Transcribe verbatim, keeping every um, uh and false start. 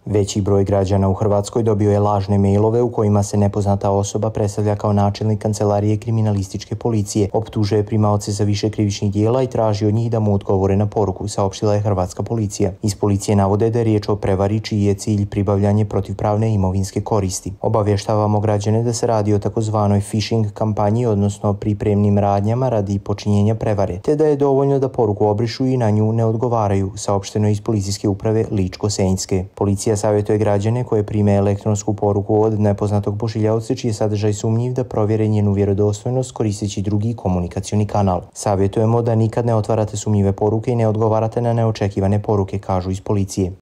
Veći broj građana u Hrvatskoj dobio je lažne mailove u kojima se nepoznata osoba predstavlja kao načelnik kancelarije kriminalističke policije, optužuje primaoce za više krivičnih dijela i traži od njih da mu odgovore na poruku, saopštila je hrvatska policija. Iz policije navode da je riječ o prevari čiji je cilj pribavljanje protivpravne imovinske koristi. Obavještavamo građane da se radi o takozvanoj phishing kampanji, odnosno pripremnim radnjama radi počinjenja prevare, te da je dovoljno da poruku obrišu i na nju ne odgovaraju, saopšteno iz policijske uprave Ličko-senjske. Policija savjetuje građane koje prime elektronsku poruku od nepoznatog pošiljaoca čiji je sadržaj sumnjiv da provjere njenu vjerodostojnost koristeći drugi komunikacioni kanal. Savjetujemo da nikad ne otvarate sumnjive poruke i ne odgovarate na neočekivane poruke, kažu iz policije.